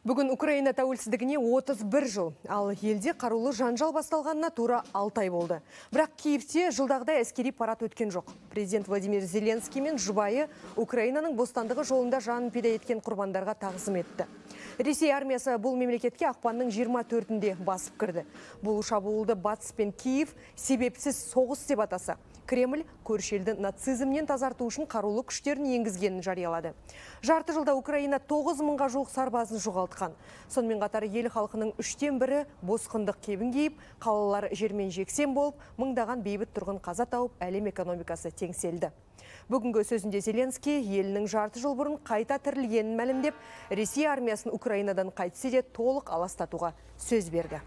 Бүгін Украина тәуелсіздігіне 31 жыл, ал елде қарулы жанжал басталғанына тура 6 ай болды. Бірақ Киевте жылдағыдай әскери парад өткен жоқ. Президент Владимир Зеленский мен жұбайы Украинаның бостандығы жолында жанын пида еткен құрбандарға тағзым етті. Ресей армиясы бұл мемлекетке ақпанның 24-інде басып кірді. Бұл шабуылды Батыс пен Киев себепсіз соғыс деп атаса, Кремль көрші елді нацизмнен тазарту үшін қарулы күштерін енгізгенін жариялады. Жарты жылда Украина 9 мыңға жуық сарбазын жоғалтқан. Сонымен қатар ел халқының 1/3 босқындық кебін киіп, қалалар жермен жексен болып, мыңдаған бейбіт тұрғын қаза тауып, әлем экономикасы теңселді. Бүгінгі сөзінде Зеленский елінің жарты жыл бұрын қайта тірілгенін мәлімдеп, Ресей армиясын Украинадан қайтсе де толық аластатуға сөз берді.